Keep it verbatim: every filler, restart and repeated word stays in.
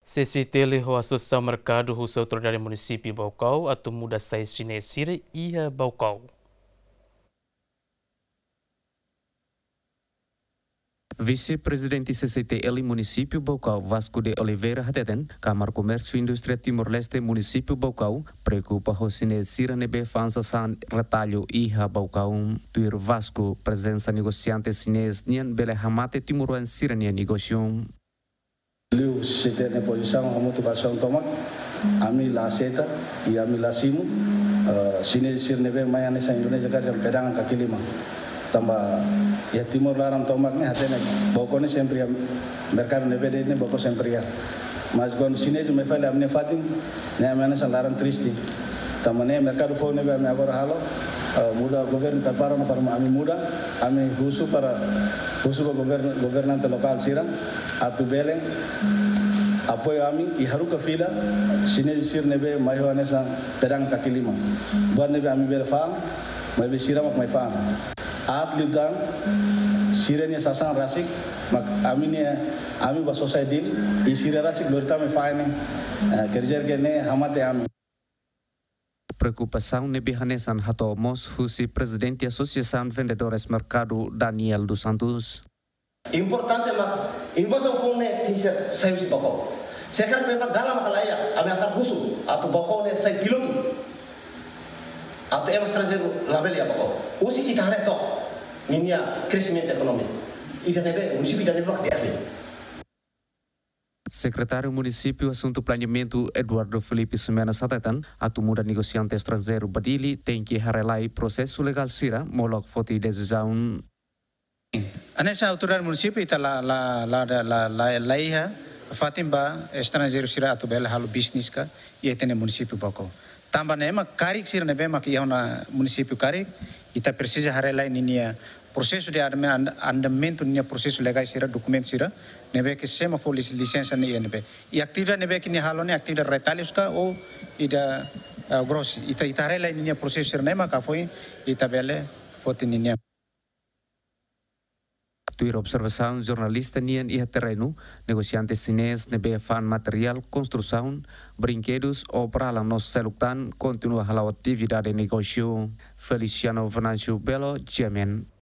C C T L ho Asosiasaun Merkadu husu autoridade munisípiu Baucau atu muda sai xinés sira iha Baucau. Vise-Prezidente C C T L munisípiu Baucau, Vasco de Oliveira, hateten, Kámara Komérsiu Indústria Timor-Leste munisípiu Baucau preokupa ho xinés sira ne'ebé fa'an sasán retallu iha Baucau. Tuir Vasco, prezensa negosiante xinés nian bele hamate timoroan sira-nia negósiu. Liu C T L nia pozisaun hamutuk ho asosiasaun tomak, ami la aseita, i ami la simu, eh, xinés sira ne'ebé mai hanesan Indonézia karik dehan pedagang kaki lima. Tanba iha Timor laran tomak ne'e hatene Baucau ne'e sempre iha merkadu ne'ebé de'it ne'e Baucau sempre iha. Mas kuandu xinés mai fali ami-nia fatin, ne'e ami hanesan laran triste. Tanba ne'e merkadu foun ne'ebé ami agora halo, eh, muda governu prepara ona para ami muda, ami husu para, husu ba governu, governante lokál sira atu bele apoiu ami i haruka fila xinés sira ne'ebé mai ho hanesan pedagang kaki lima. Buat ne'ebé ami bele fa'an, maibé sira mak mai fa'an. Aat liután, sira-nia sasán rasik mak ami-nia, ami bá sosa iha Dili, i sira rasik lori tama iha fatin ne'e, eh, kerja ke ne'e hamate ami. Preokupasaun ne'ebé hanesan hato'o mós husi Prezidente Asosiasaun Vendedores Merkadu, Daniel dos Santos. Importante mak invazaun foun ne'e tenke sai husi Baucau. Se karik memang dala maka la iha, ami hakarak husu atu Baucau ne'e sai pilotu. Atu ema estranjeiru labele iha Baucau. Husi ita haree took ninia kreximentu ekonomia. Ida ne'ebé, munisípiu ida ne'ebé mak di'ak liu. Sekretáriu Munisípiu Asuntu Planeamentu, Eduardo Filipe Ximenes, hateten, atu muda negosiante estranjeiru ba Dili tenke haree lai prosesu legál sira molok foti desizaun. Hanesan autoridade munisípiu ita la, la, la, la, la, la, la iha fatin ba estranjeiru sira atu bele halo bisnis ka iha ita-nia munisípiu Baucau. Tanba ne'e mak karik sira ne'ebé mak iha ona munisípiu karik, ita presiza haree lai ninia prosesu de admi-, and-, andamentu ninia prosesu legál sira, dokumentu sira, ne'ebé ke sé mak fó lis-, lisensa ne'e iha ne'ebé. I atividade ne'ebé ke nia halo ne'e atividade retallu ka ou ida, eh, gross. Ita, ita haree lai ninia prosesu sira ne'e mak foin ita bele foti ninia. Tuir observasaun jornalista nian iha terrenu, negosiante xinés ne'ebé fa'an materiál konstrusaun, brinkedus, obra lanos seluk tan kontinua hala'o atividade negósiu. Feliciano Venâncio Belo, G M N.